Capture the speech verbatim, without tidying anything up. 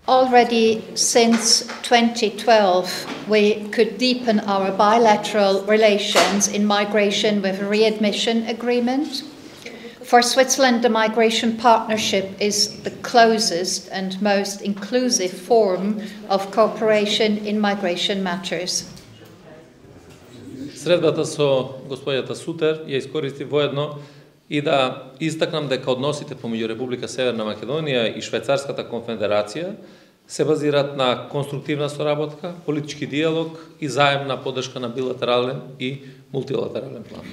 Already since twenty twelve, we could deepen our bilateral relations in migration with a readmission agreement. For Switzerland, the migration partnership is the closest and most inclusive form of cooperation in migration matters. Средбата со господјата Сутер ја искористив воедно и да истакнам дека односите помеѓу Република Северна Македонија и Швајцарската конфедерација се базираат на конструктивна соработка, политички диалог и заемна поддршка на билатерален и мултилатерален план.